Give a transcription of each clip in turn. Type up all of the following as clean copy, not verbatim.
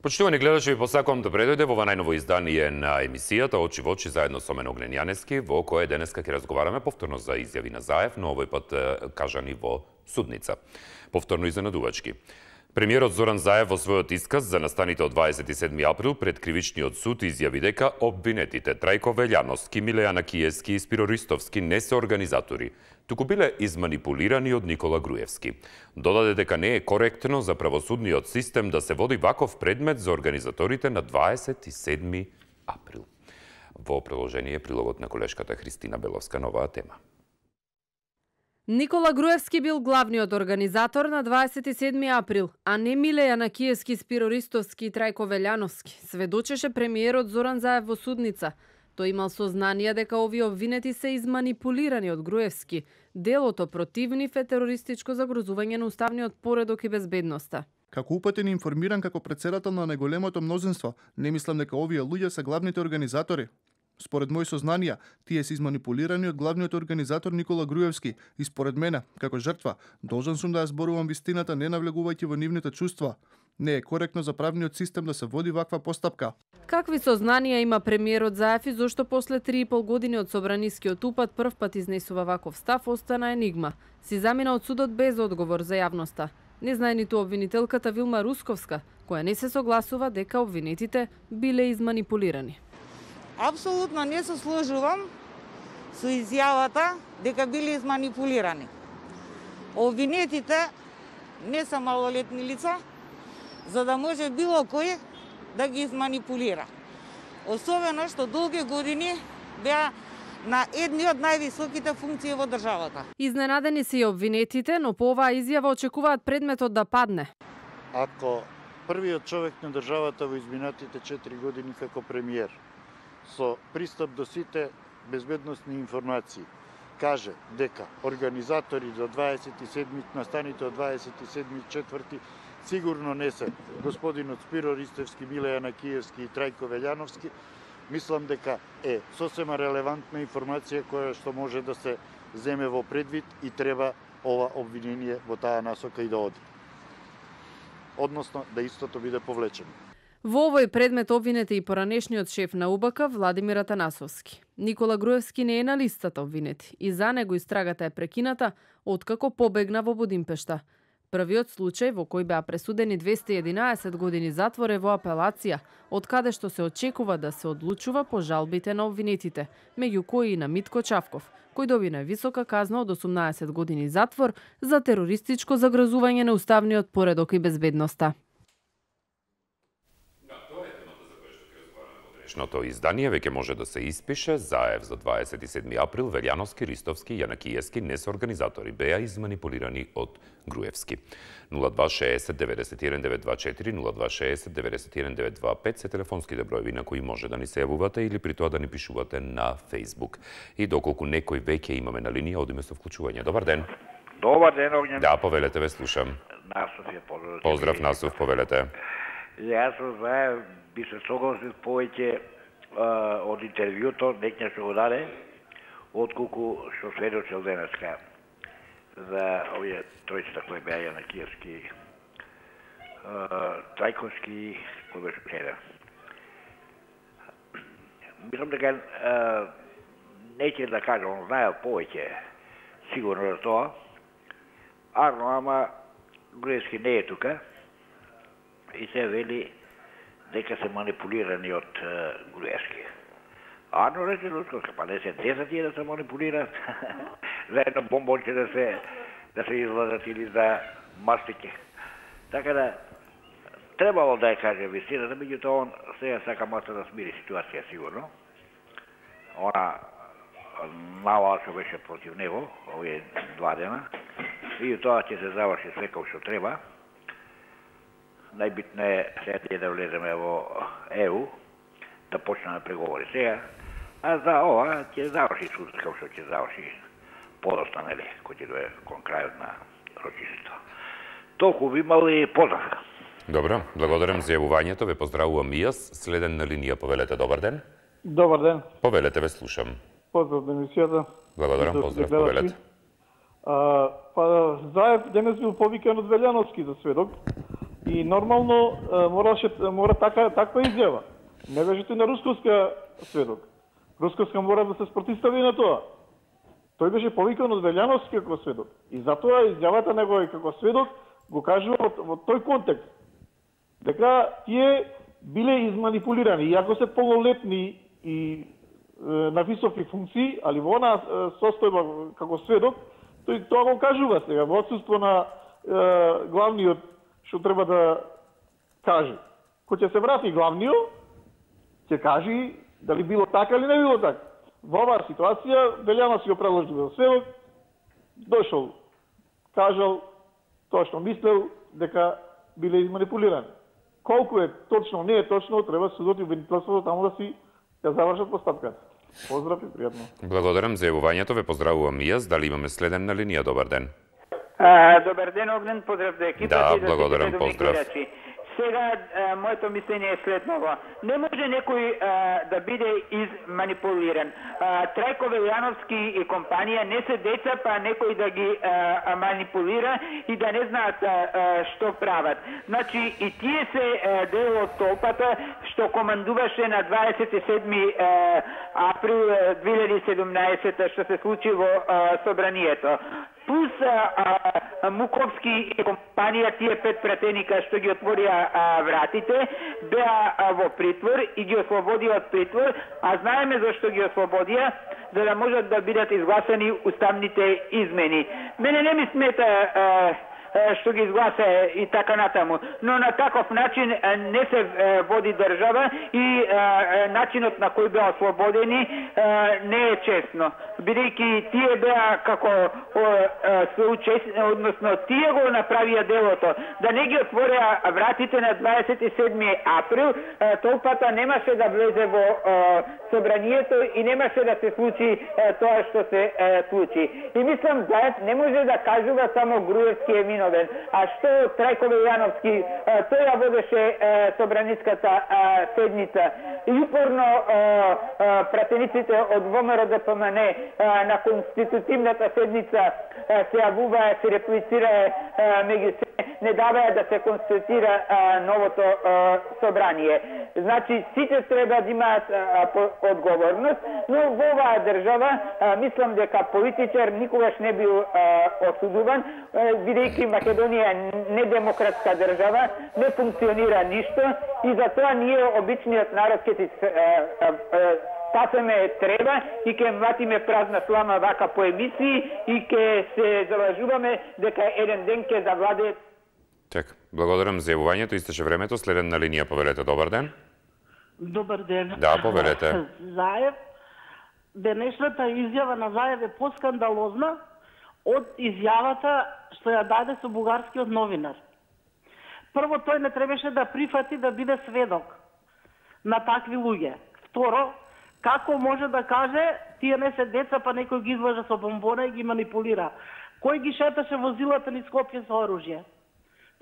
Почитувани гледачи, ви посакувам добре дојде во ова најново издание на емисијата Очи во очи заедно со мен Огнен Јаневски, во кое денеска ќе разговараме повторно за изјави на Заев, но овој пат кажани во судница. Повторно изненадувачки. Премиерот Зоран Заев во својот исказ за настаните од 27 април пред кривичниот суд изјави дека обвинетите Трајко Велјановски, Милејана Киевски и Спиро Ристовски не се организатори, туку биле изманипулирани од Никола Груевски. Додаде дека не е коректно за правосудниот систем да се води ваков предмет за организаторите на 27 април. Во продолжение прилогот на колешката Христина Беловска на оваа тема. Никола Груевски бил главниот организатор на 27 април, а не Милејана Киевски, Спиро Ристовски и Трајко Велјановски, сведочеше премиерот Зоран Заев во судница. Тој имал сознание дека овие обвинети се изманипулирани од Груевски. Делото против нив е терористичко загрозување на уставниот поредок и безбедноста. Како упатен и информиран како претседател на најголемото мнозинство, не мислам дека овие луѓе се главните организатори. Според мои сознанија, тие се изманипулирани од главниот организатор Никола Груевски и според мене, како жртва, должен сум да ја зборувам вистината не навлегувајќи во нивните чувства. Не е коректно за правниот систем да се води ваква постапка. Какви сознанија има премиерот Заев и зошто после 3,5 години од собранискиот упад првпат изнесува ваков став остана енигма. Си замина од судот без одговор за јавноста. Не знае ниту обвинителката Вилма Русковска, која не се согласува дека обвинетите биле изманипулирани. Апсолутно не се сложувам со изјавата дека биле изманипулирани. Обвинетите не се малолетни лица, за да може било кој да ги изманипулира. Особено што долги години беа на едни од највисоките функции во државата. Изненадени се и обвинетите, но по оваа изјава очекуваат предметот да падне. Ако првиот човек на државата во изминатите 4 години како премиер со пристап до сите безбедносни информации каже дека организатори за 27 настаните од 27.4 сигурно не се господинот Спиро Ристовски, Милејана Киевски и Трајко Велјановски, мислам дека е сосема релевантна информација која што може да се земе во предвид и треба ова обвинение во таа насока и да оди. Односно да истото биде повлечено. Во овој предмет обвинете и поранешниот шеф на УБК Владимир Атанасовски. Никола Груевски не е на листата обвинети и за него истрагата е прекината откако побегна во Будимпешта. Првиот случај во кој беа пресудени 211 години затвор е во апелација, од каде што се очекува да се одлучува по жалбите на обвинетите, меѓу кои и на Митко Чавков, кој доби највисока казна од 18 години затвор за терористичко загрозување на уставниот поредок и безбедноста. Днешното издание веќе може да се испише. Заев за 27 април, Велјановски, Ристовски и Јанакиевски не се организатори, беа изманипулирани од Груевски. 0260 91 924, 0260 91 925 се телефонските броеви на кои може да ни се јавувате или при тоа да ни пишувате на Facebook. И доколку некој веќе имаме на линија, одиме со вклучување. Добар ден. Добар ден, Огнен. Да, повелете, ве слушам. Насов е поздрав. Поздрав, Насов, повелете. Јас со Заев би се согласил повеќе од интервјуто некоја што го даде, отколку што сведочил денеска за овие тројцата кои беа Јанакиевски, Трајковски, кој беше преден. Мислам дека неќе да кажам, знаел повеќе сигурно за тоа, ама Груевски не е тука и се вели дека се манипулирани од Груевски. Арно рече Русковска, па не се 10 тие да се манипулираат, за едно бомбонче да се излазат или за мастике. Така да, требало да ја каже вистината, меѓутоа он сега сака маста да смири ситуација сигурно. Она навала што беше против него, овие 2 дена, и тоа ќе се заврши све како што треба. Најбитно е сега да влеземе во ЕУ, да почнеме преговори сега, а за ова ќе заврши судот како што ќе заврши подоста, нели, кој ќе дое кон крајот на рочишето. Толку би имал и поздрав. Добро, благодарам за јавувањето, ве поздравувам и јас. Следен на линија, повелете, добар ден. Добар ден. Повелете, ве слушам. Поздрав на емисијата. Благодарам, поздрав, повелете. Заев денес бил повикан од Велјановски за сведок и нормално мора таква изјава. Не беше тој на Русковска сведок. Русковска мора да се спротистави на тоа. Тој беше повикан од Велјановски како сведок. И затоа изјавата негова како сведок го кажува во тој контекст. Дека тие биле изманипулирани, иако се полнолетни и на високи функции, али во она состојба како сведок, тој тоа го кажува сега, во отсуство на главниот што треба да каже. Кој ќе се врати главниот, ќе каже дали било така или не било така. Во оваа ситуација, Велјанов си го предложил за сведок, дошол, кажал тоа што мислел дека биле изманипулирани. Колку е точно, не е точно, треба судот и обвинителството таму да си ја завршат постапката. Поздрав и пријатно. Благодарам за јавувањето, ве поздравувам и јас. Дали имаме следен на линија? Добар ден. Добар ден, Огнен, поздрав до екипата. Да, и до благодарам, поздрав. Сега, моето мислење е следново. Не може некој да биде изманипулиран. Трајко Велјановски и компанија не се деца, па некој да ги манипулира и да не знаат што прават. Значи, и тие се дел од толпата што командуваше на 27 април 2017 што се случи во собранието. Плюс Муковски и компанија, тие 5 пратеника што ги отворија вратите, беа во притвор и ги ослободија од притвор, а знаеме зашто ги ослободија, за да можат да бидат изгласани уставните измени. Мене не ми смета што ги изгласа и така натаму, но на таков начин не се води држава и начинот на кој беа ослободени не е честно. Бидејќи тие беа како односно тие го направија делото, да не ги отвореа вратите на 27 април, толпата немаше да влезе во собранието и немаше да се случи тоа што се случи. И мислам, Заев не може да кажува само Груевски е виновен. А што Трајко Велјановски, тој ја водеше собраниската седница. И упорно пратениците од ВМРО-ДПМН на конститутивната седница се јавуваа, се реплицираа меѓу се, не даваја да се конституира новото собрание. Значи, сите треба да имаат одговорност, но во оваа држава мислам дека политичар никогаш не бил осудуван, бидејќи Македонија е недемократска држава, не функционира ништо и затоа ние, обичниот народ, ќе си пасеме треба и ќе млатиме празна слама вака по емисии и ќе се залажуваме дека еден ден ќе завладе. Чек, благодарам за јавувањето, истече времето. Следен на линија, повелете, добар ден. Добар ден. Да, повелете. Заев, денешната изјава на Заев е поскандалозна од изјавата што ја даде со бугарскиот новинар. Прво, тој не требаше да прифати да биде сведок на такви луѓе. Второ, како може да каже тие не се деца, па некој ги излажа со бомбона и ги манипулира? Кој ги шеташе возилата низ Скопје со оружје?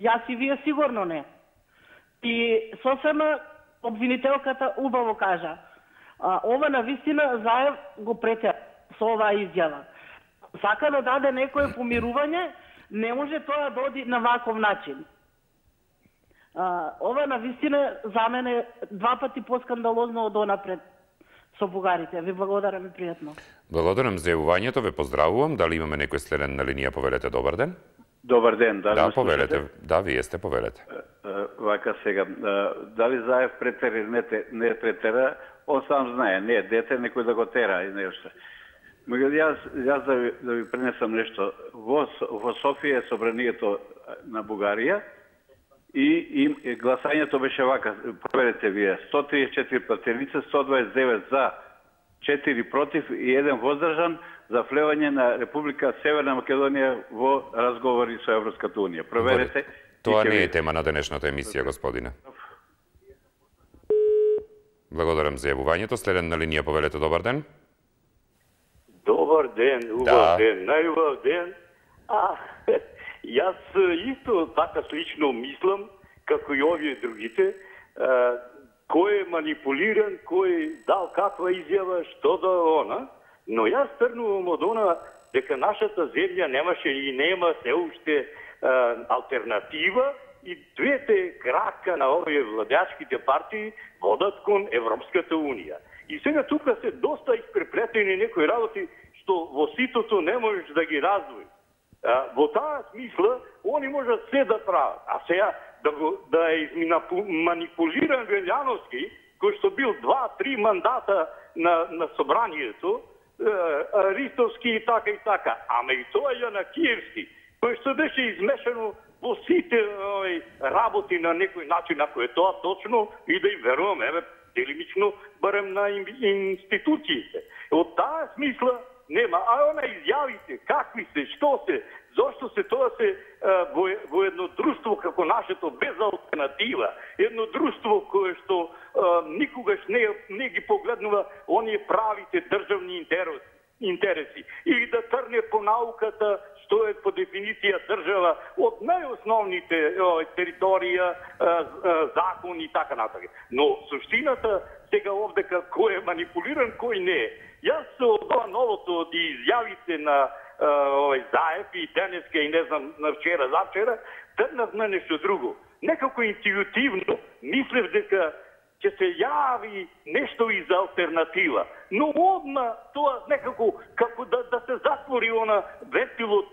Јас и вие сигурно не. И сосема обвинителката убаво кажа. Ова на вистина Заев го претера со оваа изјава. Сака да даде некое помирување, не може тоа да оди на ваков начин. Ова на вистина за мене два пати поскандалозно од онапред со бугарите. Ви благодарам и пријатно. Благодарам за јавувањето, ве поздравувам. Дали имаме некој следен на линија, повелете, добар ден? Добар ден, да, повелете. Да, вие сте, повелете. Вака сега, дали Заев претера или не претера, он сам знае, не е дете, некој да го тера и нешто. Јас да ви пренесам нешто. Во Софија е собранието на Бугарија и гласањето беше вака, проверете вие, 134 пратеници, 129 за, 4 против и 1 воздржан за влевање на Република Северна Македонија во разговори со Европската Унија. Проверете. Тоа не е тема на денешната емисија, господине. Благодарам за јавувањето. Следен на линија, повелете, добар ден. Добар ден, убав ден, најубав ден. Јас исто така слично мислам како и овие другите, кој е манипулиран, кој дал каква изјава, што да она, но јас тргнувам од она дека нашата земја немаше и нема се уште алтернатива и двете крака на овие владеачките партии водат кон Европската Унија. И сега тука се доста испреплетени некои работи што во ситото не можеш да ги раздвоиш. Во таа смисла, они можат се да прават. А сега да е манипулиран Велјановски, кој што бил 2-3 мандата на собранието, Ристовски и така. Ама и тоа Јанакиевски, кој што беше измешано во сите работи на некој начин, ако е тоа точно, и да им веруваме, делимично, барем на институциите. Од таа смисла нема, а она изјавите, какви се, што се, зошто се тоа се во едно друштво како нашето без алтернатива, едно друштво кое што никогаш не ги погледнува оние правите државни интереси или да трне по науката што е по дефиниција држава од најосновните територија, закони и така натаму. Но суштината сега овдека кој е манипулиран, кој не е. Јас од ова новото од изјавите на Заев и денеска и не знам на вчера, завчера, тргнав на нешто друго. Некако интуитивно мислев дека ќе се јави нешто из алтернатива. Но одма тоа некако како да се затвори она вентилот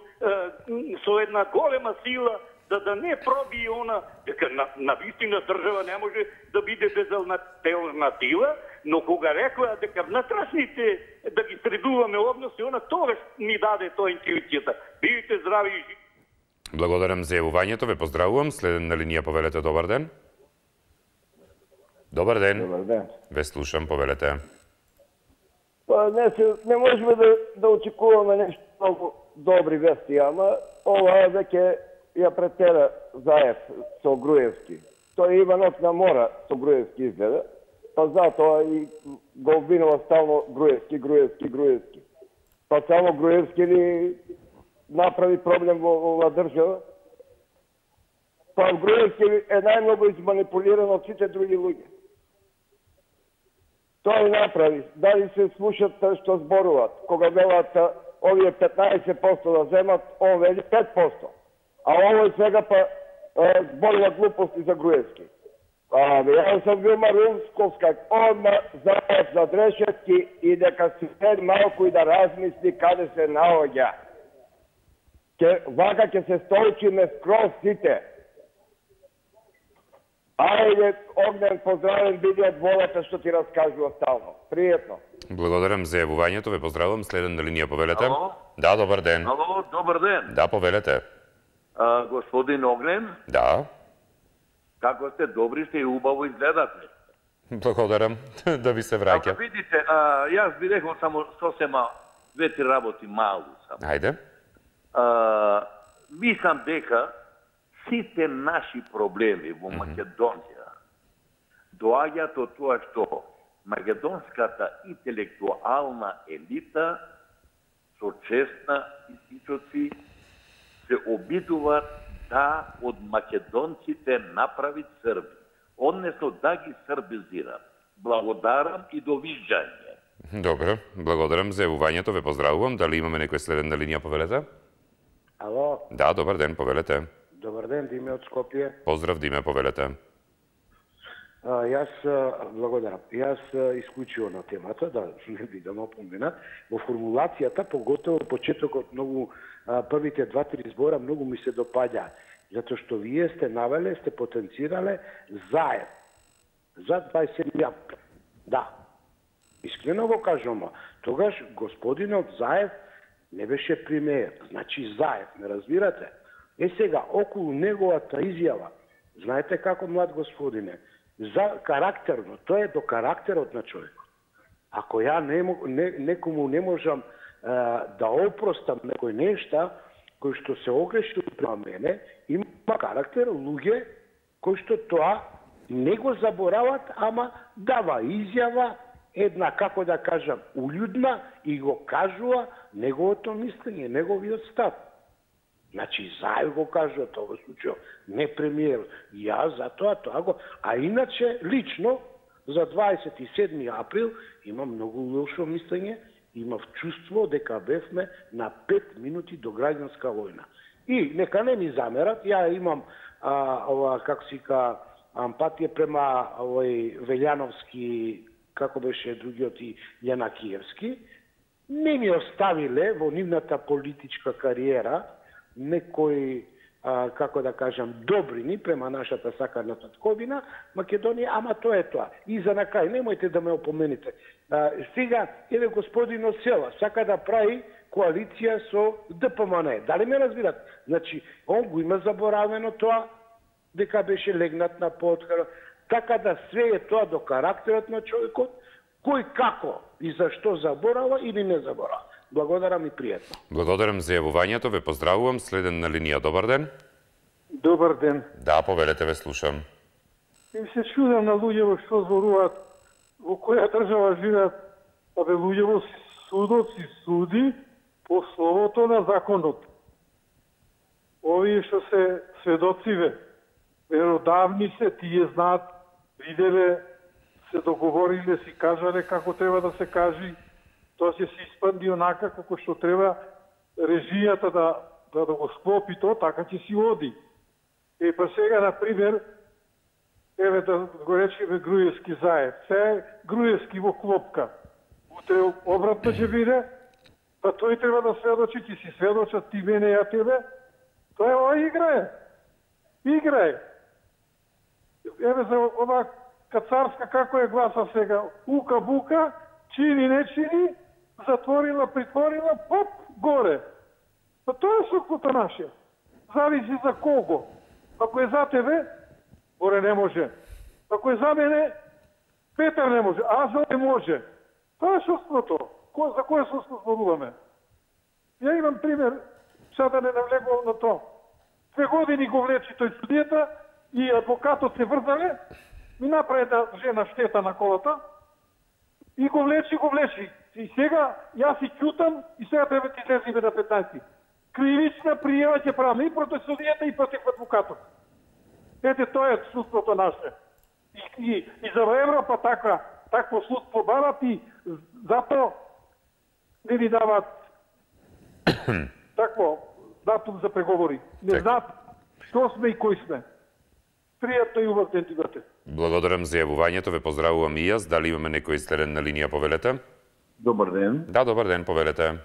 со една голема сила, да не проби она, дека на вистина држава не може да биде без алтернатива, но кога рекла дека внатрешните да ги средуваме односи, она тогаш ми даде тоа интуицијата. Бидете здрави и живи. Благодарам за јавувањето, ве поздравувам. Следен на линија, повелете, добар ден. Добар ден. Добар ден. Ве слушам, повелете. Па не можеме да очекуваме нешто многу добри вести, ама ова веќе ја претера Заев со Груевски. Тој Иванов на мора со Груевски изгледа, па затоа и го обвинува стално Груевски. Па само Груевски ли направи проблем во оваа држава? Па Груевски е најмногу изманипулиран од сите други луѓе. Тој направи. Дали се слушат што зборуваат? Кога велат овие 15% да земат, он вели 5%. А овој сега па зборува глупости за Груевски. Јас сам бил Марунсковска, одма Заев за Дрешевски и дека се седи малку и да размисли каде се наоѓа. Вака ќе се столчиме скроз сите. Ајде, Огнен, поздравен, биди од волата што ти раскажува стално. Пријатно. Благодарам за јавувањето, ве поздравувам. Следен на линија, повелете. Ало? Да, добар ден. Ало, добар ден. Да, повелете. Господин Огнен? Да. Како сте добри, сте и убаво изгледате. Благодарам, да ви се враќам. Ако видите, јас би рекол само сосема две-три работи малу само. Ајде. Мислам дека сите наши проблеми во Македонија доаѓаат од тоа што македонската интелектуална елита со честна институции се обидуваат да од македонците направи Срби, однесно да ги србизираат. Благодарам и довиждање. Добро, благодарам за јавувањето, ве поздравувам. Дали имаме некој следен на линија, повелете? Ало? Да, добар ден, повелете. Добар ден, Диме од Скопје. Поздрав, Диме, повелете. Јас благодарам. Јас исклучио на темата, да не бидам опоменат, во формулацијата, поготово почетокот многу првите 2-3 збора многу ми се допаѓа, затоа што вие сте навеле, сте потенцирале Заев за 27 април. Да. Искрено го кажам, тогаш господинот Заев не беше премиер, значи Заев, не разбирате? Сега, околу неговата изјава, знаете како, млад господине, за карактерно, тоа е до карактерот на човекот. Ако ја некому не можам да опростам некој нешта, кој што се огреши према мене, има карактер луѓе кои што тоа не го заборават, ама дава изјава, една, како да кажам, улјудна и го кажува неговото мислење, неговиот став. Значи, Заев го кажува тоа случај, не премиер. Јас затоа тоа го... А иначе, лично, за 27. април имам многу лошо мислење, имав чувство дека бевме на 5 минути до граѓанска војна. И нека не ми замерат, ја имам како си ка ампатија према овој Велјановски, како беше другиот и Јанакиевски, не ми оставиле во нивната политичка кариера некои, како да кажам, добрини према нашата сакана татковина, Македонија, ама тоа е тоа. И за на крај, немојте да ме опомените. Сега, еве господин Осела, сака да прави коалиција со ДПМН. Дали ме разбират? Значи, он го има заборавено тоа, дека беше легнат на потхара. Така да све е тоа до карактерот на човекот, кој како и зашто заборава или не заборава. Благодарам и пријатно. Благодарам за јавувањето, ве поздравувам. Следен на линија, добар ден. Добар ден. Да, повелете, ве слушам. И се чудам на луѓето што зборуваат, во која држава живеат, а бе луѓето судот си суди по словото на законот. Овие што се сведоциве, веродавни се, тие знаат, виделе, се договориле, си кажале како треба да се кажи, тоа ќе се испанди онака како што треба режијата да го склопи тоа, така ќе си оди. Па сега, например, еве да го речеме Груевски Заев. Се Груевски во клопка. Утре обратно ќе биде, па тој треба да сведочи, ќе си сведочат ти мене ја тебе. Тоа е ова игра. Игра. Еве за ова кацарска како е гласа сега. Ука-бука, чини, не чини, затворила, притворила, поп, горе. Па тоа е сукото наше. Зависи за кого. Ако е за тебе, Боре не може. Ако е за мене, Петар не може. А за не може. Тоа е судството. За кое судство зборуваме? Ја имам пример, сега да не навлегувам на тоа. 2 години го влечи тој судијата и адвокатот се врзале, ми направи да жена штета на колата и го влечи. И сега јас си ќутам и сега треба ти излезиме на 15. Кривична пријава ќе правиме и против судијата и против адвокатот. Ете, тоа е судството наше. И за Европа такво судство барат и затоа не ни дават такво датум за преговори. Не знаат што сме и кој сме. Пријатно и убав ден ти имате. Благодарам за јавувањето, ве поздравувам и јас. Дали имаме некој следен на линија, повелете? Добар ден. Да, добар ден, повелете.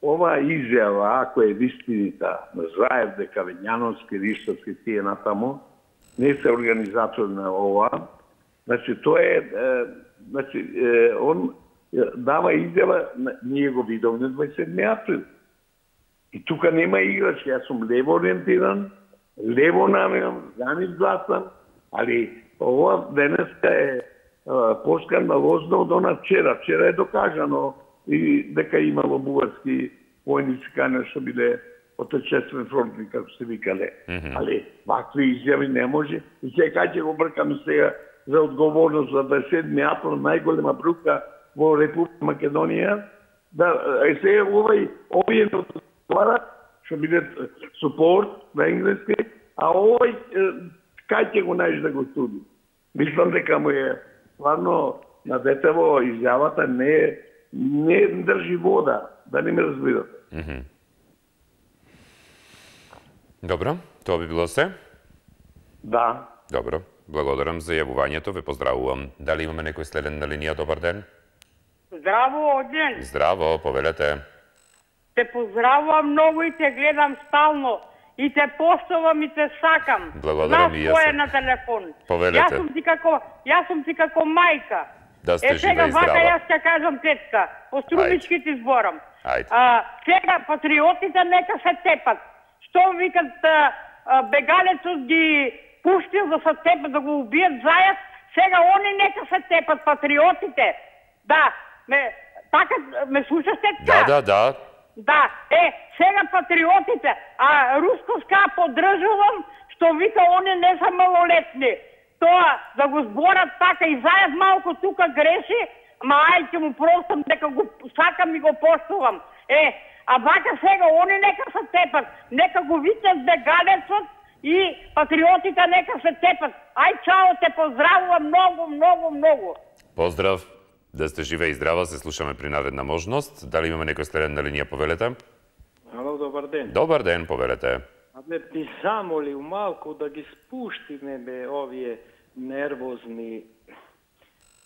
Ова изјава, ако е вистинита на Заев, дека Велјановски, Риштовски, тие натамо, не се организатор на ова, значи тоа е, он дава изјава, ние го видовме 27 април. И тука нема играч, јас сум лево ориентиран, лево намерам, за нив гласам, али ова денеска е поскандалозно од она вчера. Вчера е докажано и дека имало бугарски војници кај што биле отечествен фронтни, како се викале. Али вакви изјави не може. И сега ќе го бркаме сега за одговорност за 27 април, најголема брука во Република Македонија. Сега овие отварат, што биде супорт на енглески, а овој кај ќе го најде да го суди. Мислам дека му е стварно на детево изјавата не држи вода, да не ме разбирате. Добро, тоа би било се? Да. Добро, благодарам за јавувањето, ве поздравувам. Дали имаме некој следен на линија? Добар ден. Здраво, Оден. Здраво, повелете. Те поздравувам многу и те гледам стално. И те поштувам и те сакам. Благодарам и јас. Кој е на телефон. Повелете. Јас сум ти како мајка. Да сте жива и здрава. Вака јас ќе кажам тетка. По струмички ти зборам. Сега патриотите нека се тепат. Што викат бегалецот ги пуштил да се тепат, да го убият Заев, сега они нека се тепат патриотите. Да, така ме слушаш тетка? Да. Да, сега патриотите, а Рускоска поддржувам, што вика они не се малолетни. Тоа да го зборат така и Заев малку тука греши, ма ај ќе му простам дека го сакам и го поштувам. А вака сега, они нека се тепат, нека го викнат бегалецот и патриотите нека се тепат. Ај, чао, те поздравувам многу. Поздрав, да сте живе и здрава, се слушаме при наредна можност. Дали имаме некој следен на линија, повелете? Ало, добар ден. Добар ден, повелете. Абе, би замолил малку да ги спуштиме бе овие нервозни,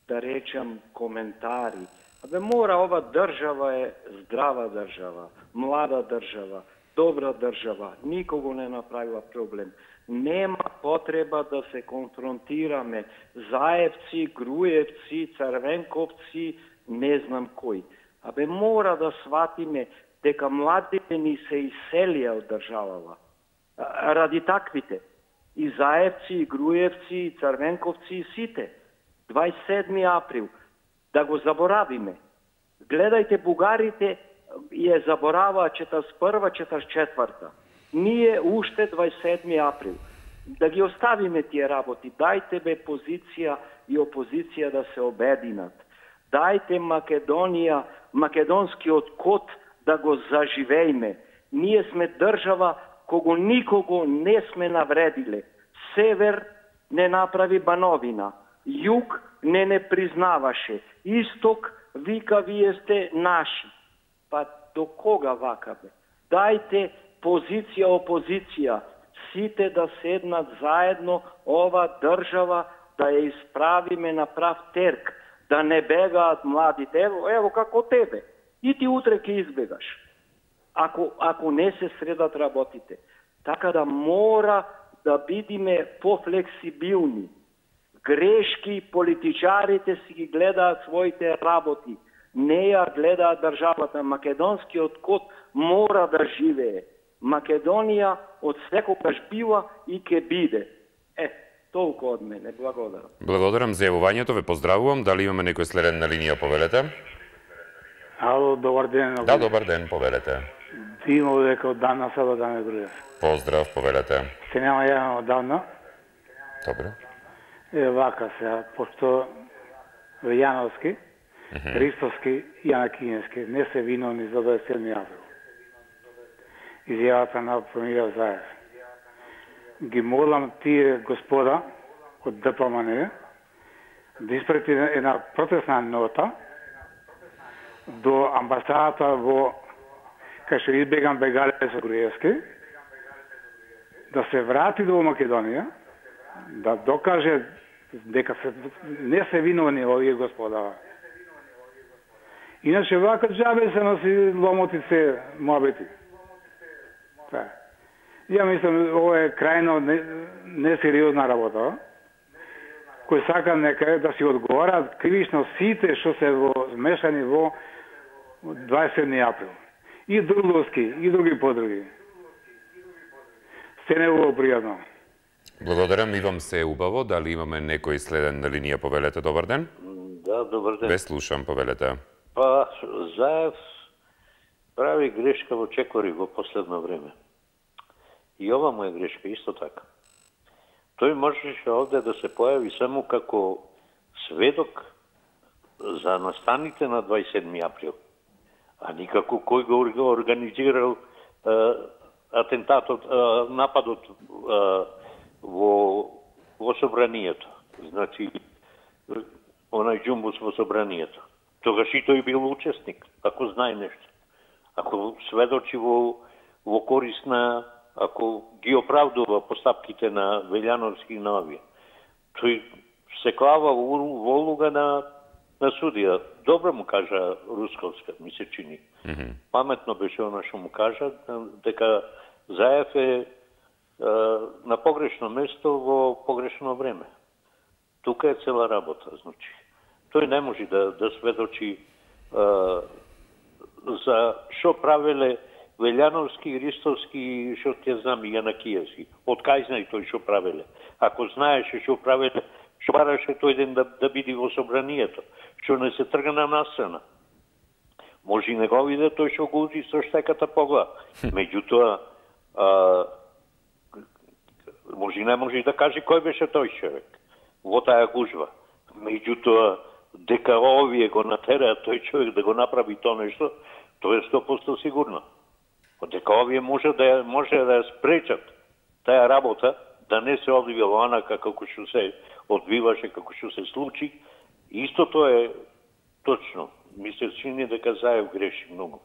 да речам, коментари. Абе, мора, ова држава е здрава држава, млада држава, добра држава, никого не направила проблем. Нема потреба да се конфронтираме. Заевци, Груевци, Црвенковци, не знам кој. Абе, мора да сватиме дека младите ни се иселија од државава. Ради таквите. И Заевци, и Груевци, и Црвенковци, и сите. 27 април. Да го заборавиме. Гледајте, бугарите ја забораваа 41-44. Ние уште 27 април. Да ги оставиме тие работи. Дајте бе позиција и опозиција да се обединат. Дајте Македонија, македонскиот код да го заживееме. Ние сме држава кого никого не сме навредиле. Север не направи Бановина. Југ не признаваше. Исток вика вие сте наши. Па до кога вака бе? Дајте позиција, опозиција. Сите да седнат заедно ова држава да ја исправиме на прав терк. Да не бегаат младите. Ево како тебе. И ти утре ќе избегаш. Ако не се средат работите. Така да мора да бидиме пофлексибилни. Грешки политичарите си ги гледаат своите работи. Не ја гледаат државата. Македонскиот код мора да живее. Македонија од секогаш била и ке биде. Толку од мене. Благодарам. Благодарам за јавувањето, ве поздравувам. Дали имаме некој следен на линија, повелете? Ало, добар ден. Да, добар ден, повелете. Димо дека од дана саба да ме Груев. Поздрав, повелете. Се нема јавно од давно. Добре. Вака се, пошто Јановски, Ристовски и Јанакиевски не се виновни за 27 април. Изјавата на премиерот Заев. Ги молам тие господа од ДПМН да испрати една протестна нота до амбасадата во кај што избегам Бегалец Груевски, да се врати до Македонија, да докаже дека не се виновни овие господа. Иначе вака джабе се носи ломотице мобети. Ја мислам, ова е крајно несериозна работа, кој сака нека да си одговарат кривично сите што се змешани во 27 април. И Дурловски, и други подруги. Се не било пријатно. Благодарам, и вам се е убаво. Дали имаме некој следен на линија, повелете? Добар ден. Да, добар ден. Ве слушам, повелете. Па, Заев прави грешка во Чекори во последно време. И ова му е грешка, исто така. Тој можеше овде да се појави само како сведок за настаните на 27 април, а никако кој го организирал атентатот, нападот во собранието. Значи, онај џумбус во собранието. Тогаш и тој бил учесник, ако знае нешто. Ако сведочи во корист на, ако ги оправдува постапките на Велјановски и на овие. Тој се клава во улога на судија. Добро му кажа Русковска, ми се чини. Паметно беше она што му кажа, дека Заев е на погрешно место во погрешно време. Тука е цела работа, значи. Тој не може да сведочи за што правеле Велјановски, Ристовски, што ќе знам, и Јанакиевски. Од кај знае тој што правеле? Ако знаеше што правеле, што бараше тој ден да биде во собранието, што не се трга на настрана. Може и не го виде тој што го узи со штеката по глава. Меѓутоа, може и не може да каже кој беше тој човек во таа гужва. Меѓутоа, дека овие го натераат тој човек да го направи тоа нешто, Тоа е 100% сигурно. Дека овие може да ја спречат таа работа, да не се одвива онака како што се одвиваше, како што се случи. Истото е точно. Ми се чини дека Заев греши многу.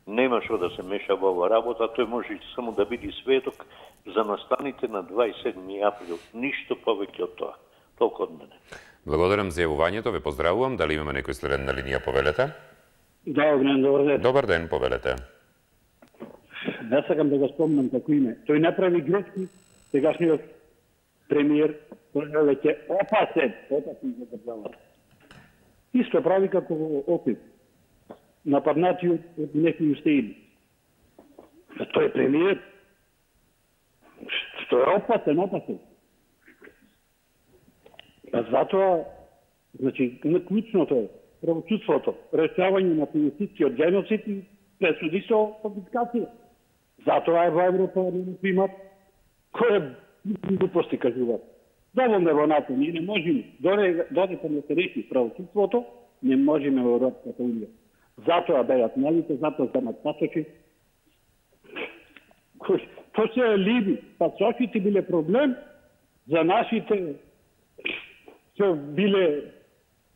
Нема што да се меша во ова работа, тој може само да биде сведок за настаните на 27 април. Ништо повеќе од тоа. Толку од мене. Благодарам за јавувањето, ве поздравувам. Дали имаме некој следен на линија, повелете? Да, добар ден. Добар ден, повелете. Не сакам да го спомнам како име. Тој направи грешки, сегашниот премиер, тој е веќе опасен за државата. Исто прави како Охрид. Нападнати од некои устеини. Тој е премиер. Тој е опасен. А затоа, значи, клучното е правосудството, решавање на финансискиот геноцид и пресуди со конфискација. Затоа е во Европа не примат кој глупости кажуваат. Доволно е во НАТО, ние не можеме, додека не се реши правосудството, не можеме во Европската унија. Затоа беат малите, затоа земат пасочи. Тоа се е либи. Пасочите биле проблем за нашите што биле,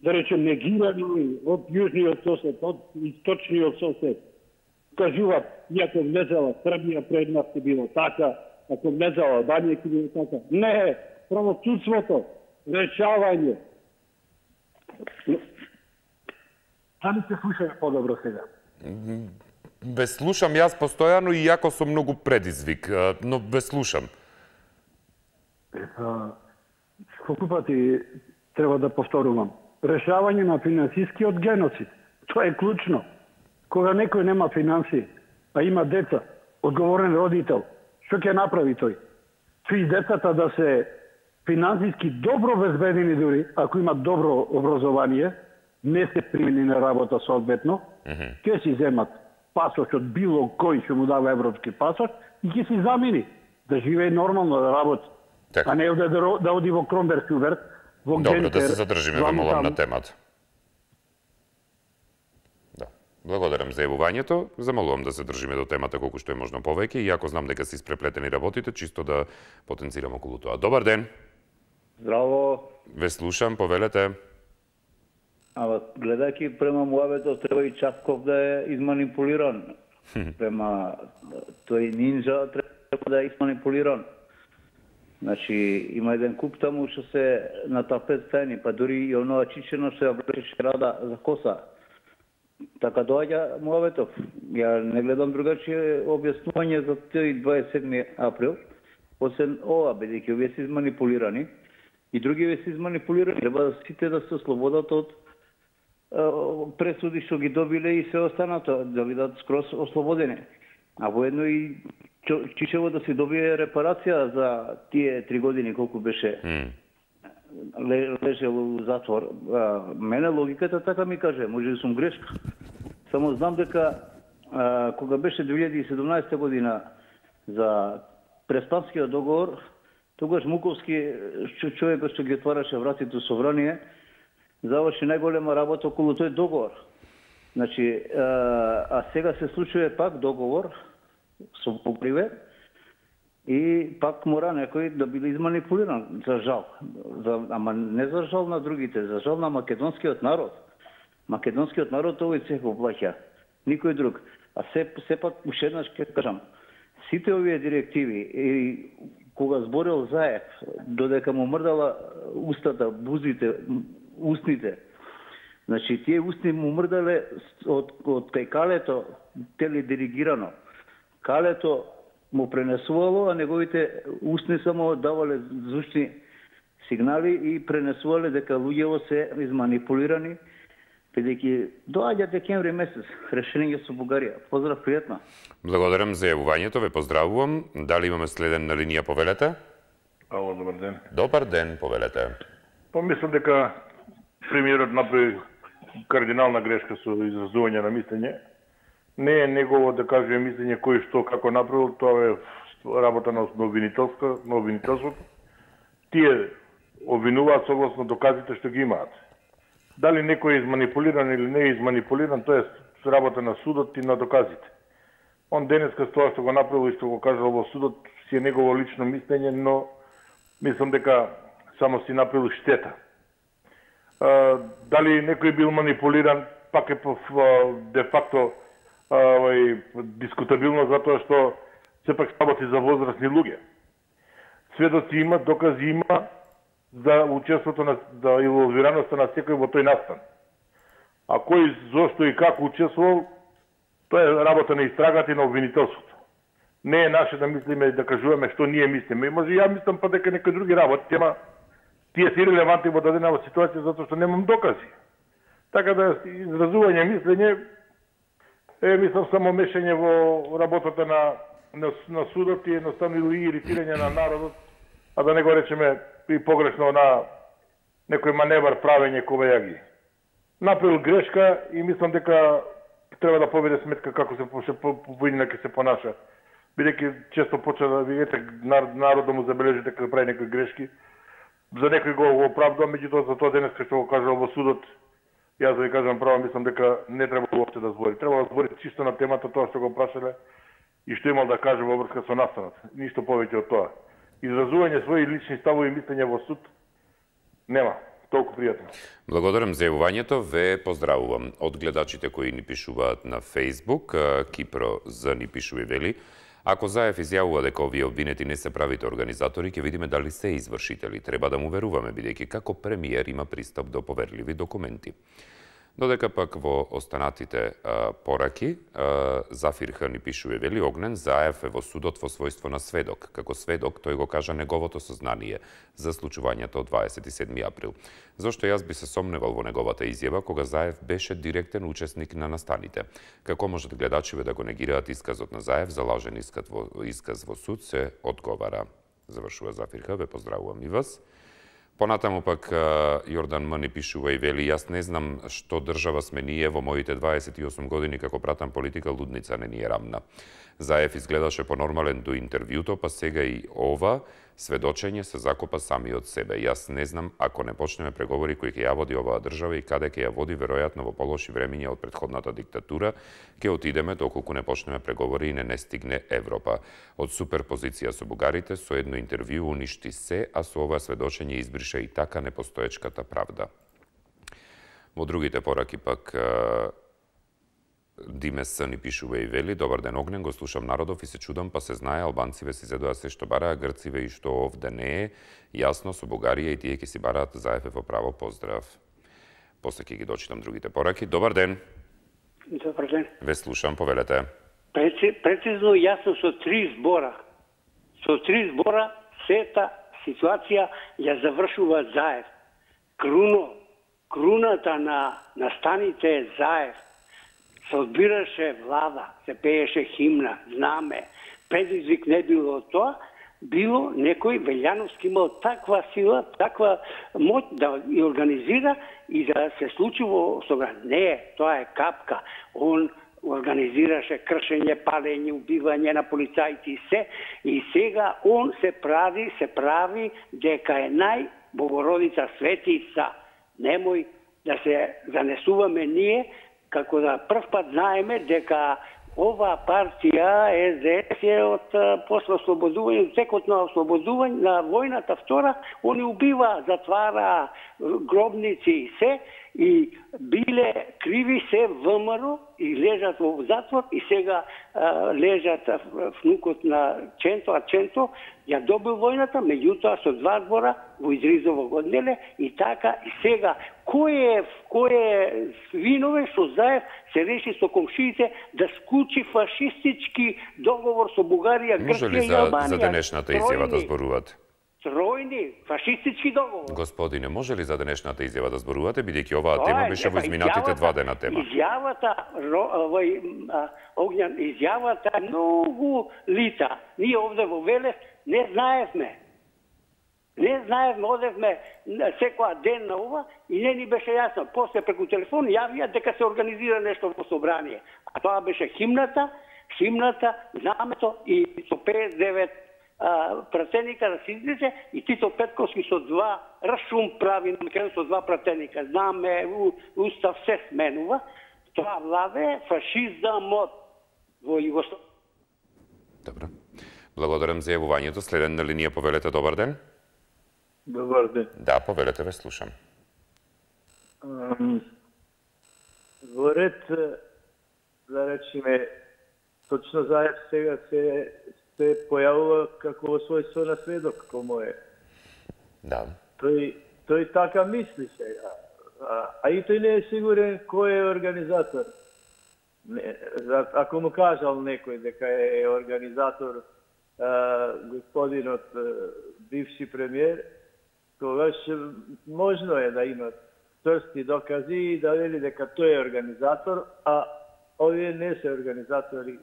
да речем, негирани од јужниот сосед, од источниот сосед. Кажуваат, иако влезала Србија пред нас ќе било така, ако влезала Албанија ќе било така. Не, правосудството, решавање. Дали се слушаме подобро сега? Ве слушам јас постојано и јако сум многу предизвик, но ве слушам. Колку пати треба да повторувам? Решавање на финансискиот геноцид. Тоа е клучно. Кога некој нема финансии, а има деца, одговорен родител, што ќе направи тој? Сви децата да се финансиски добро обезбедени дури, ако имат добро образование, не се примени на работа соодветно, ќе си земат пасош од било кој што му дава европски пасош и ќе си замени да живее нормално, да работи. А не да оди во Кромберг-Сюберг, во Гентер. Добро, да се задржиме, ве молам, на темата. Да. Благодарам за јавувањето. Замолувам да се држиме до темата колку што е можно повеќе, иако знам дека се испреплетени работите, чисто да потенцирам околу тоа. Добар ден. Здраво. Ве слушам, повелете. Гледајќи према муавето, треба и Часков да е изманипулиран. Према тој нинджа треба да е изманипулиран. Значи, има еден куп таму што се на тапет стајни, па дури и оноа чичено што ја влечеше рада за коса. Така доаѓа муаветов. Ја не гледам другачие објаснување за тој 27 април, освен ова, бидејќи овие се изманипулирани и другиве се изманипулирани. Треба сите да се ослободат од пресуди што ги добиле и се останато, да бидат скроз ослободени. А воедно и Чичево да се добие репарација за тие 3 години колку беше лежел во затвор. Мене логиката така ми каже, може да сум грешка. Само знам дека кога беше 2017 година за Преспанскиот договор, тогаш Муковски, човекот што ги отвараше вратите во Собрание, заврши најголема работа околу тој договор. Значи, а сега се случува пак договор со покриве и пак мора некој да биде изманипулиран, за жал. Ама не за жал на другите, за жал на македонскиот народ. Македонскиот народ овој цех го плаќа, никој друг. А сепак уште еднаш ќе кажам, сите овие директиви и кога зборел Заев, додека му мрдала устата, бузите, устните, значи тие устни му мрдале од кај калето теледиригирано. Калето му пренесувало, а неговите устни само давале звучни сигнали и пренесувале дека луѓето се изманипулирани, бидејќи доаѓа декември месец, решение со Бугарија. Поздрав, пријатно. Благодарам за јавувањето, ве поздравувам. Дали имаме следен на линија, повелете? Ало, добар ден. Добар ден, повелете. Мислам дека премиерот направи кардинална грешка со изразување на мислење. Не е негово да каже мислење кој што како направил, тоа е работа на обвинителството. Тие обвинуваат согласно доказите што ги имаат. Дали некој е изманипулиран или не е изманипулиран, тоа е работа на судот и на доказите. Он денеска тоа што го направил и што го кажал во судот си е негово лично мислење, но мислам дека само си направил штета. Дали некој бил манипулиран, пак е де факто дискутабилно, затоа што сепак работи за возрастни луѓе. Сведоци има, докази има за учеството на инволвираноста на секој во тој настан. А кој, зошто и како учествувал, тоа е работа на истрагата и на обвинителството. Не е наше да мислиме и да кажуваме што ние мислиме. И може ја мислам па дека некои други работи, тема тие се ирелевантни во дадена ситуација затоа што немам докази. Така да изразување мислење е, мислам, само мешање во работата на судот и едноставно и иритирање на народот, а да не го речеме и погрешно на некој маневар правење ковајаги. Направил грешка и мислам дека треба да поведе сметка како се повинна ќе се понаша. Бидејќи често почна да видите народот му забележи дека прави некои грешки. За некој го оправдува, меѓутоа за тоа денес што го кажал во судот, јас да ви кажам право, мислам дека не треба уопште да збори. Треба да збори чисто на темата тоа што го прашале и што имал да каже во врска со настанот. Ништо повеќе од тоа. Изразување своји лични ставови и мислења во суд нема. Толку пријатно. Благодарам за јавувањето, ве поздравувам. Од гледачите кои ни пишуваат на Facebook, Кипро за ни пишува и вели: ако Заев изјавува дека овие обвинети не се правите организатори, ќе видиме дали се извршители. Треба да му веруваме, бидејќи како премиер има пристап до поверливи документи. Додека пак во останатите пораки, Зафир Х ни пишува и вели: Огнен Заев е во судот во својство на сведок. Како сведок, тој го кажа неговото сознание за случувањето од 27 април. Зошто јас би се сомневал во неговата изјава, кога Заев беше директен учесник на настаните. Како можат гледачиве да го негираат исказот на Заев за лажен исказ во суд, се одговара. Завршува Зафир Х, ве поздравувам и вас. Понатаму пак Јордан М. ни пишува и вели: јас не знам што држава сме ние во моите 28 години како пратам политика, лудница не ни е рамна. Заев изгледаше понормален до интервјуто, па сега и ова сведочење се закопа сами од себе. Јас не знам, ако не почнеме преговори кои ќе ја води оваа држава и каде ќе ја води, веројатно во полоши времиња од претходната диктатура, ќе отидеме доколку не почнеме преговори и не стигне Европа. Од суперпозиција со бугарите, со едно интервју уништи се, а со ова сведочење избриша и така непостоечката правда. Во другите пораки пак Димес ни пишува и вели: добар ден, Огнен, го слушам народов и се чудам, па се знае, албанциве си зедоа се што бараа, грциве и што овде не е, јасно со Бугарија и тие ќе си бараат. Заев е во право, поздрав. После ќе ги дочитам другите пораки. Добар ден. Добар ден. Ве слушам, повелете. Прецизно јасно со 3 збора. Со 3 збора сета ситуација ја завршува Заев. Круната на настаните е Заев. Се одбираше влада, се пееше химна, знаме. Предизвик не било тоа, било некој Велјановски имал таква сила, таква моќ да ја организира и да се случи во Собран. Не, тоа е капка. Он организираше кршење, палење, убивање на полицајци и се. И сега он се прави дека е најбогородица светица. Немој да се занесуваме ние, како да прв пат знаеме дека ова партија СДС е од после ослободување, текот на ослободување на војната втора, они убива, затвара гробници и се, и биле криви се ВМРО и лежат во затвор и сега лежат внукот на Ченто, а Ченто ја добил војната, меѓутоа со 2 збора во Изризово го однеле и така и сега кој е виновен што Заев се реши со комшиите да склучи фашистички договор со Бугарија, Грција и Албанија. Може ли за денешната изјава да зборувате? Тројни фашистички договор. Господине, може ли за денешната изјава да зборувате, бидејќи оваа тема беше во изминатите 2 дена тема? Изјавата, Огњан, изјавата е многу лита. Ние овде во Велес не знаевме. Одевме секоја ден на ова и не ни беше јасно. После преку телефон јавија дека се организира нешто во собрание. А тоа беше химната, знамето и со 59 пратеника да се излезе и Тито Петковски со 2 рашум прави со 2 пратеника. Знаме, устав се сменува. Тоа влада е фашизмот во Југославија. Добро. Благодарам за јавувањето. Следен на линија, повелете, добар ден. Добар ден. Да, повелете, ве слушам. Во ред, да речеме, точно Заев сега се појавува како во својство на сведок, комо е. Да. Тој така мисли сега. А и тој не е сигурен кој е организатор. Ако му кажал некој дека е организатор господинот бивши премиер, тогаш можно е да има чврсти докази и да вели дека тој е организатор, а овие не се организатори.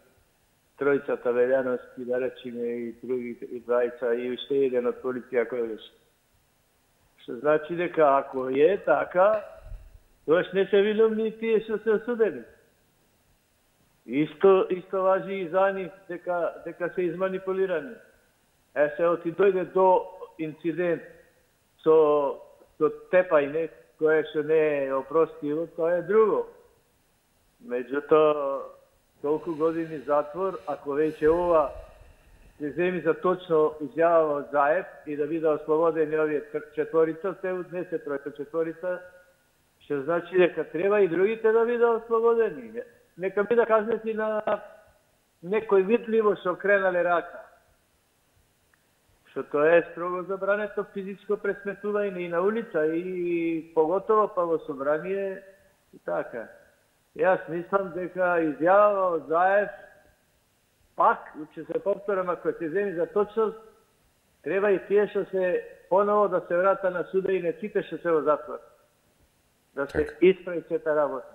Тројцата Велјановски, да речеме, и другите, и двајца, и уште еден од полиција кој беше. Што значи дека ако е така, тогаш не се виновни тие што се осудени. Исто важи и за нив дека се изманипулирани. Се оти дојде до инцидент со тепајне, кое што не е опростиво, тоа е друго. Меѓутоа, толку години затвор, ако веќе ова се земи за точно изјава од Заев и да биде ослободени овие четворица, се однесе тројка четворица, што значи дека треба и другите да биде ослободени. Нека биде казнети на некој видливо што кренале рака. Што тоа е строго забрането физичко пресметување и на улица, и поготово па во собрание и така. Јас мислам дека изјава од Заев, пак, ќе се повторам, ако се земи за точност, треба и тие што се поново да се врата на суда и не сите што се во затвор. Да се исправи сета работа.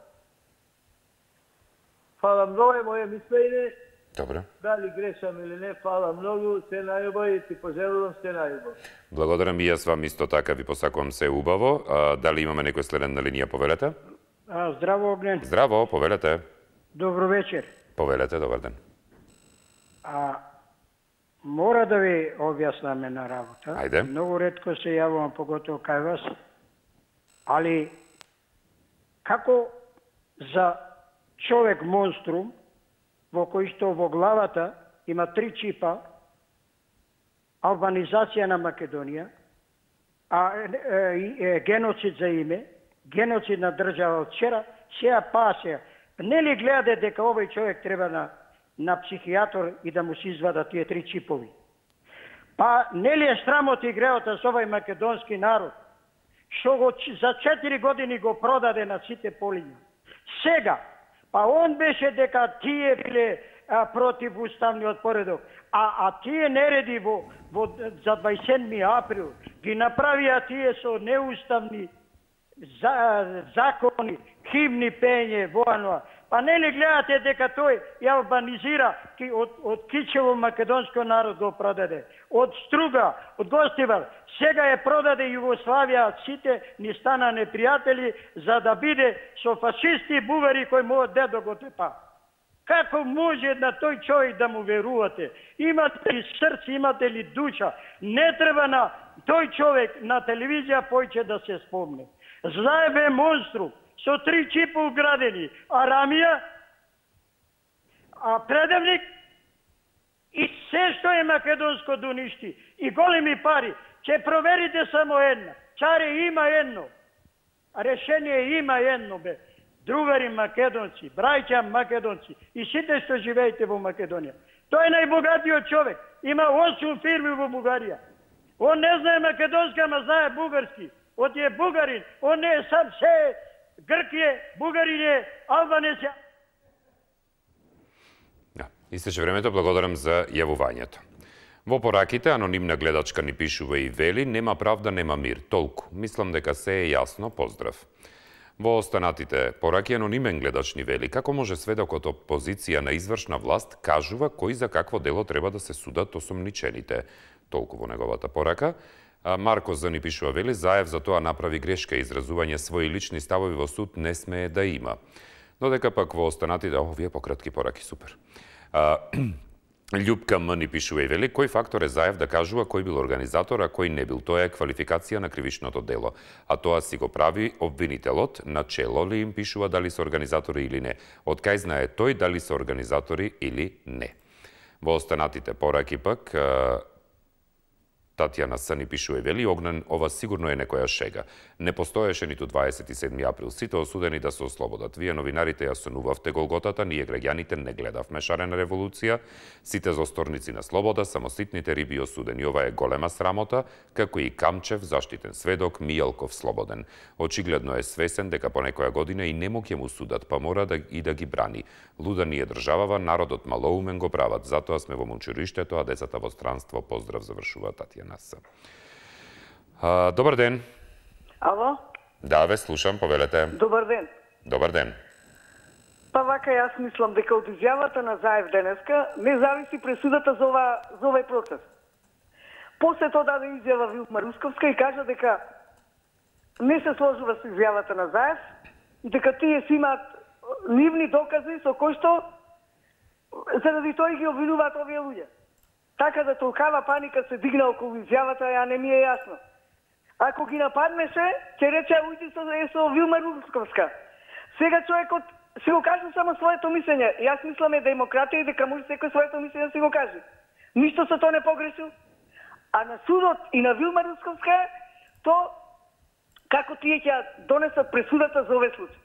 Фала многу е моје мислење. Добро. Дали грешам или не, фала многу, се најубаво и ти пожелувам се најубаво. Благодарам и јас вам исто така, ви посакувам се убаво. Дали имаме некој следен на линија, повелете? Здраво, Огнен. Здраво, повелете. Добро вечер. Повелете, добар ден. Мора да ви објаснаме на работа. Ајде. Многу ретко се јавувам, поготово кај вас. Али, како за човек монструм, во кој што во главата има 3 чипа, албанизација на Македонија, геноцид за име, геноцид на држава од вчера, сега пасеја. Нели гледаде дека овој човек треба на психијатор и да му се извадат тие 3 чипови? Па нели е срамот и греота со овој македонски народ, што го за 4 години го продаде на сите полиња. Сега, па он беше дека тие биле против уставниот поредок, а тие нереди за 27. април ги направија тие со неуставни закони, химни пење, војно. Па нели гледате дека тој ја албанизира од Кичево македонско народ го продаде, од Струга, од Гостивар, сега е продаде Југославија, сите ни стана непријатели за да биде со фашисти и бугари кои мојот дедо го тепа. Како може на тој човек да му верувате? Имате ли срце, имате ли душа? Не треба на тој човек на телевизија појче да се спомне. Заев е монструм, со 3 чипа уградени, Арамија, предавник и се што е македонско да уништи, и големи пари. Ќе проверите само една. Чаре има едно. Решение има едно, бе. Другари македонци, браќа македонци и сите што живеете во Македонија. Тој е најбогатиот човек. Има 8 фирми во Бугарија. Он не знае македонски, ама знае бугарски. Он е бугарин. Он не е сам се Гркија, бугарин е, албанец е. Да, истече времето, благодарам за јавувањето. Во пораките, анонимна гледачка ни пишува и вели, нема правда, нема мир. Толку. Мислам дека се е јасно, поздрав. Во останатите пораки, анонимен гледач ни вели, како може сведокот од позиција на извршна власт кажува кој за какво дело треба да се судат осомничените. Толку во неговата порака. Марко З ни пишува вели, Заев за тоа направи грешка, изразување своји лични ставови во суд не смее да има. Додека пак во останатите, овие пократки пораки, супер. Љупка М ни пишува и вели, кој фактор е Заев да кажува кој бил организатор, а кој не бил. Тоа е квалификација на кривичното дело. А тоа си го прави обвинителот, начело ли им пишува дали се организатори или не. Од кај знае тој дали се организатори или не. Во останатите пораки пак, Татјана С ни пишува и вели, Огнен, ова сигурно е некоја шега. Не постоеше ниту 27 април. Сите осудени да се ослободат. Вие новинарите ја сонувавте голготата, ние граѓаните не гледавме шарена револуција. Сите зосторници на слобода, само ситните риби осудени. Ова е голема срамота, како и Камчев, заштитен сведок, Мијалков слободен. Очигледно е свесен дека по некоја година и нему ќе му судат, па мора да ги брани. Луда ни е државава, народот малоумен го прават. Затоа сме во мучуриштето, а децата во странство. Поздрав, завршува Татјана. Добар ден. Ало? Да, ве слушам, повелете. Добар ден. Добар ден. Па вака јас мислам дека од изјавата на Заев денеска не зависи пресудата за овој процес. После тоа даде изјава Вилма Русковска и кажа дека не се сложува со изјавата на Заев и дека тие си имаат нивни докази со кои што заради тоа ги обвинуваат овие луѓе. Така да толкава паника се дигна околу изјавата, ја не ми е јасно. Ако ги нападнеше, ќе рече ујди со Вилма Русковска. Сега човекот се го каже само своето мислење. Јас мислам е демократија и дека може секој своето мислење да се го каже. Ништо со тоа не погрешил. А на судот и на Вилма Русковска, то како тие ќе донесат пресудата за овој случај.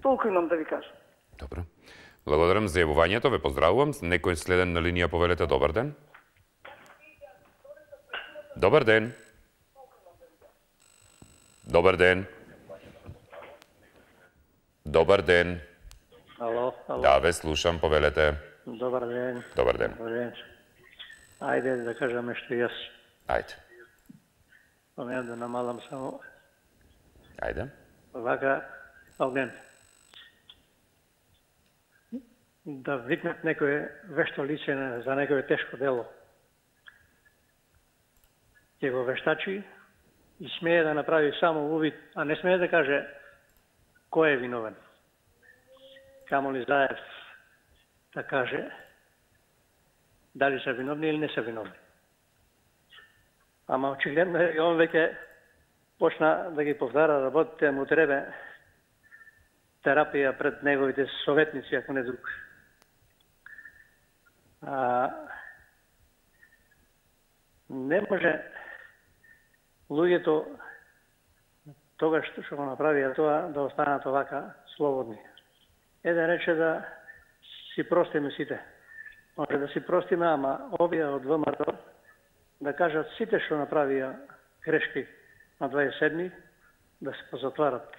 Толку имам да ви кажам. Добро. Благодарам за јавувањето, ве поздравувам. Некој следен на линија, повелете, добар ден. Добар ден. Добар ден. Добар ден. Ало, ало. Да, ве слушам, повелете. Добар ден. Добар ден. Добар ден. Ајде да кажам нешто јас. Ајде. Помеам да намалам само. Ајде. Вака, Огнен. Да викнат некој вешто лице за некој тешко дело. Ќе го вештачи и смее да направи само увид, а не смее да каже кој е виновен. Камо ли Заев да каже дали се виновни или не се виновни. Ама очигледно е, он веќе почна да ги повтара работите, му треба терапија пред неговите советници, ако не друг. Не може луѓето тогаш што го направија тоа да останат овака слободни. Еден рече да си простиме сите. Може да си простиме, ама овие од ВМРО да кажат сите што направија грешки на 27 да се позатварат,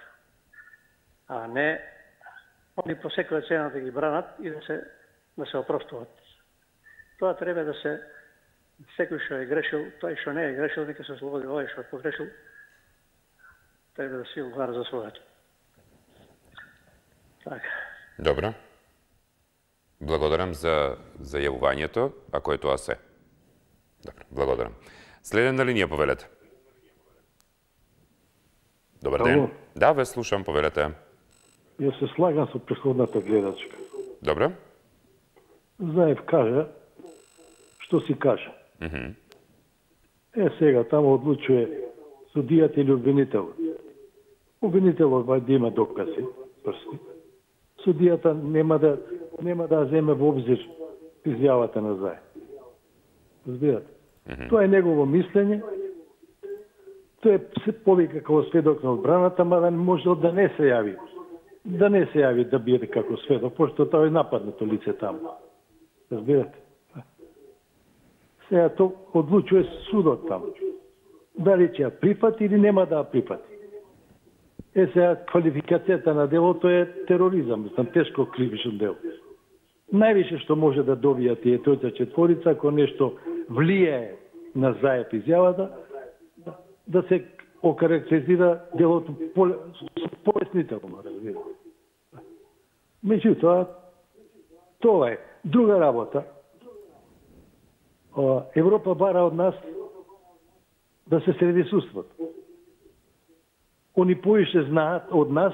а не они по секоја цена да ги бранат и да се опростуват. Тоа треба да се секој што е грешил, тој што не е грешил, нека се ослободи, овој што е погрешил, треба да си одговара за своето. Така. Добро. Благодарам за јавувањето, ако е тоа се. Добро, благодарам. Следен на линија, повелете. Добар ден. Ало. Да, ве слушам, повелете. Јас се слагам со претходната гледачка. Добро. Заев кажа што си кажа. Сега тамо одлучува судијата или обвинителот. Обвинителот да има докази, прсни. Судијата нема да земе во обзир изјавата на Заев. Разбирате? Тоа е негово мислење. Тој се повика како сведок на одбраната, мада може да не се јави. Да не се јави да биде како сведок, пошто тоа е нападнато лице таму. Разбирате? Сега тоа одлучува судот таму. Дали ќе ја прифати или нема да ја прифати. Сега квалификацијата на делото е тероризам, тешко кривично дело. Највише што може да добија тие тројца четворица, ако нешто влијае на Заев изјавата, да се окарактеризира делото полеснително, разбирате. Меѓутоа, тоа е друга работа. Европа бара од нас да се среди судството. Они поише знаат од нас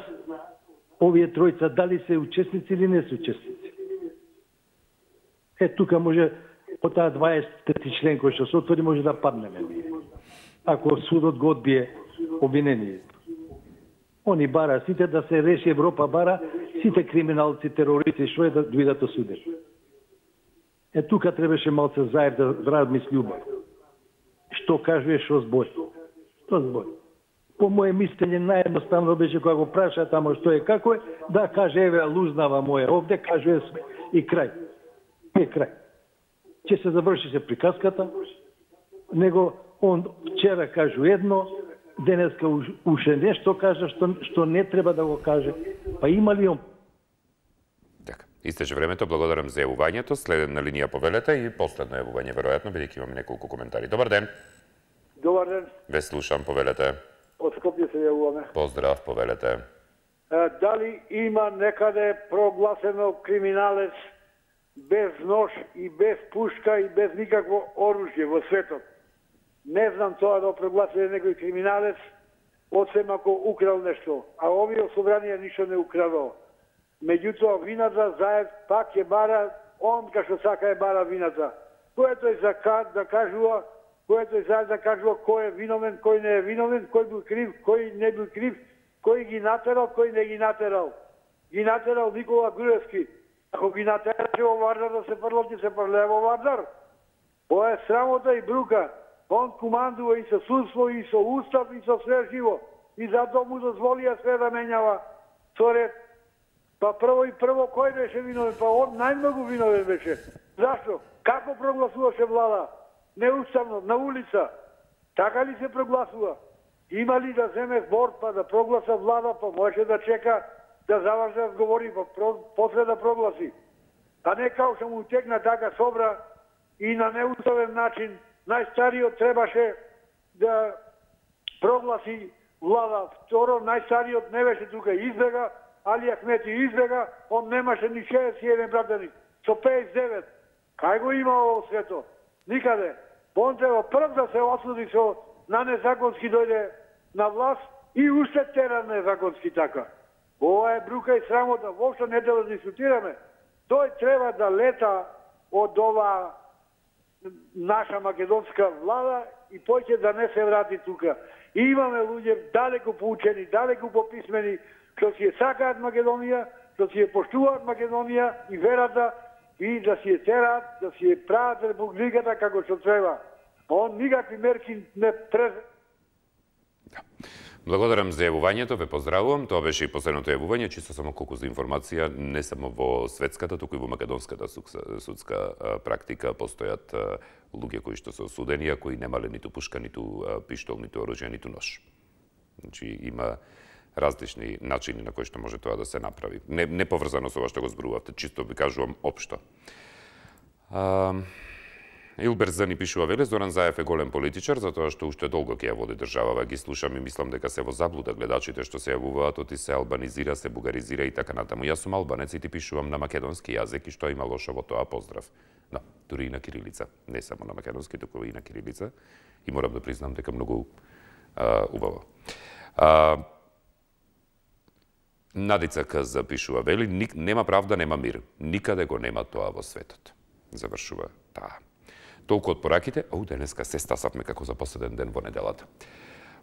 овие тројца дали се учесници или не се учесници. Тука може од таа 20-ти член кој што се отвори може да паднеме. Ако судот го одбие обвинението. Они бара сите да се реши, Европа бара сите криминалци, терористи, што е да дојдат осудени. Тука требаше малце Заев да размисли убаво. Што кажува, што збори. Што збори. По моje мислење наједноставно беше кога го праша тамо што е како е, да каже еве лузнава моја овде, кажува све и крај. И крај. Ќе се заврши се приказката, него он вчера кажу едно, денеска уште нешто кажа што не треба да го каже. Па има ли он? Така, истече времето, благодарам за јавувањето. Следна линија повелете и последно јавување, веројатно, бидејќи имаме неколку коментари. Добар ден. Добар ден. Ве слушам, повелете. Од Скопје се јавуваме. Поздрав, повелете. Дали има некаде прогласено криминалец без нож и без пушка и без никакво оружје во светот? Не знам тоа да прогласиле некој криминалец, освен ако украл нешто. А овие собранија ништо не украло. Меѓутоа, вината Заев пак ја бара, он кај што сака ја бара вината. Кој тој да кажува, кој тој Заев да кажува кој е виновен, кој не е виновен, кој бил крив, кој не бил крив, кој ги натерал, кој не ги натерал. Ги натерал Никола Груевски. Ако ги натераше во Вардар да се фрло, ќе се фрле во Вардар. Тоа е срамота и брука. Он командува и со судство, и со устав, и со све живо. И затоа му дозволија све да менјава со ред. Па прво кој беше виновен? Па он најмногу виновен беше. Зашто? Како прогласуваше влада? Неуставно, на улица. Така ли се прогласува? Има ли да земе збор па да прогласа влада, па може да чека да заврши да говори, па после да прогласи. А не као што му текна така собра и на неуставен начин најстариот требаше да прогласи влада. Второ, најстариот не беше тука, избега, Али Ахмети избега, он немаше ни 61 братани, со 59. Кај го има ово свето? Никаде. Он треба прв да се осуди со на незаконски дојде на власт и уште тера незаконски така. Ова е брука и срамота, воопшто не да дискутираме. Тој треба да лета од ова наша македонска влада и поќе да не се врати тука. И имаме луѓе далеку поучени, далеку пописмени, што си ја сакаат Македонија, што си ја поштуваат Македонија и верата и да си ја тераат, да си ја прават републиката како што треба. Он никакви мерки не Благодарам за јавувањето, ве поздравувам. Тоа беше и последното јавување, чисто само колку за информација, не само во светската, туку и во македонската судска практика постојат луѓе кои што се осудени, а кои немале ниту пушка, ниту пиштол, ниту оружје, ниту нож. Значи има различни начини на кои што може тоа да се направи. Не поврзано со ова што го зборувавте, чисто ви кажувам општо. Илбер Зани пишува, веле, Зоран Заев е голем политичар, затоа што уште долго ќе ја води државава. Ги слушам и мислам дека се во заблуда гледачите што се јавуваат, оти се албанизира, се бугаризира и така натаму. Јас сум албанец и ти пишувам на македонски јазик и што има лошо во тоа, поздрав. Но, дури и на кирилица, не само на македонски, туку и на кирилица. И морам да признам дека многу убаво. Надица К запишува, вели, нема правда, нема мир. Никаде го нема тоа во светот. Завршува таа. Толку од пораките, денеска се стасавме како за последен ден во неделата.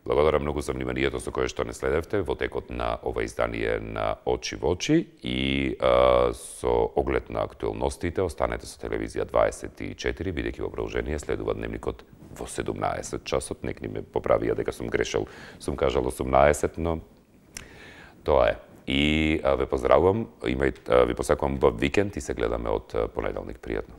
Благодарам многу за вниманието со кое што не следевте во текот на ова издание на Очи во очи и со оглед на актуелностите останете со телевизија 24, бидејќи во продолжение следува дневникот во 17 часот. Некни ме поправија дека сум грешал, сум кажал 18, но тоа е. И ве поздравувам, ви посакувам убав викенд и се гледаме од понеделник. Пријатно.